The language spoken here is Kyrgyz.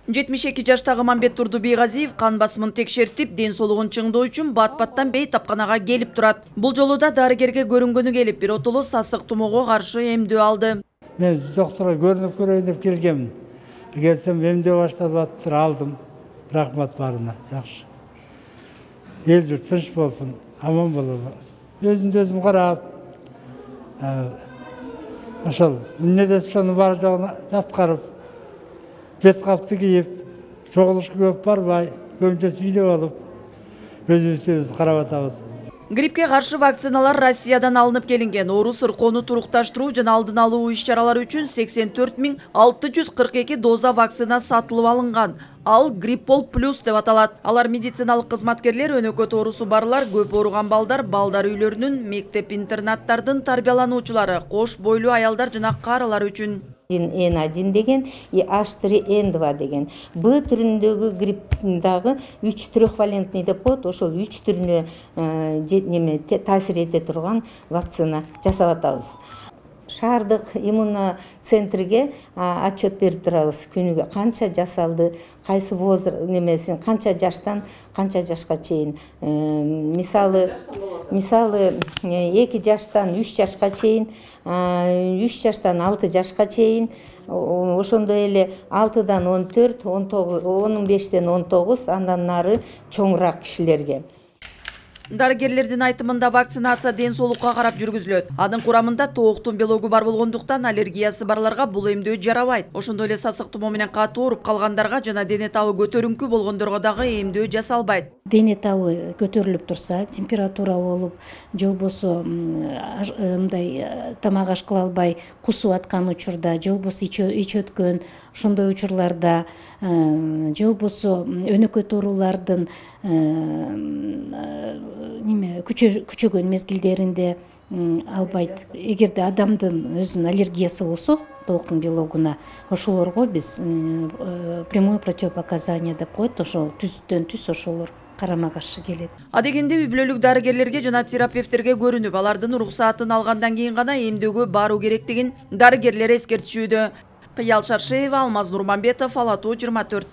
72 жаштагы Мамбет Турдубийгазиев кан басымын текшертип, ден соолугун чыңдоо үчүн бат-баттан бейтапканага келип турат. Бул жолу да дарыгерге көрүнгөнү келип, биротоло сасык тумоого каршы эмдөө алды. Мен доктурга көрүнүп көрөйүн деп келгемин. Келсем эмдөө башталып атыптыр, алдым. Рахмат баарына, жакшы. Эл журт тынч болсун, аман бололу. Өзүмдү өзүм карап, ошол эмнеде ошонун бар жогун аткарып, бет капты кийип, чогулушка көп барбай, көбүнчөсү үйдө болуп, өзүбүздү өзүбүз карап атабыз. Гриппке каршы вакциналар Россиядан алынып келинген. Оору сыркоону турукташтыруу жана алдын алуу иш-чаралары үчүн 84.642 доза вакцина сатылып алынган. Ал Гриппол плюс деп аталат. Алар медициналык кызматкерлер, өнөкөт оорусу барлар, көп ооруган балдар үйлөрүнүн, мектеп-интернаттардын тарбиялануучулары, кош бойлуу аялдар жана карылар үчүн. N1 деген и H3N2 деген. Б түрүндөгү грипптагы 3 трехвалентный деп коет, ошол 3 түрүнө таасир эте турган вакцина жасап атабыз. Шаардык иммуноцентрге отчет берип турабыз. Күнүгө канча жасалды, кайсы возраст немесин, канча жаштан канча жашка чейин. Мисалы 2 жаштан 3 жашка чейин, 3 жаштан 6 жашка чейин, ошондой эле 6-дан 14, 15-тен 19, андан нары чоңураак кишилерге. Дарыгерлердин айтымында вакцинация ден соолукка карап жүргүзүлөт. Анын курамында тооктун белогу бар болгондуктан аллергиясы барларга бул эмдөө жарабайт. Ошондой эле сасык тумоо менен катуу ооруп калгандарга жана дене табы көтөрүңкү болгондорго дагы эмдөө жасалбайт. Дене табы көтөрүлүп турса, температура болуп, же болбосо мындай тамак аш кыла албай кусуп аткан учурда, же болбосо ич өткөн ошондой учурларда, же болбосо өнөкөт оорулардын күчөгөн мезгилдеринде албайт. Эгерде адамдын өзүнүн аллергиясы болсо тооктун белогуна, ошолорго биз прямое противопоказание деп коет, ошол түздөн түз ошолор карама каршы келет. Адегенде үй бүлөлүк дарыгерлерге жана терапевттерге көрүнүп, алардын уруксаатын алгандан кийин гана эмдөөгө баруу керектигин дарыгерлер эскертишүүдө. Кыял Шаршеева, Алмаз Нурманбетов, Ала Тоо 24.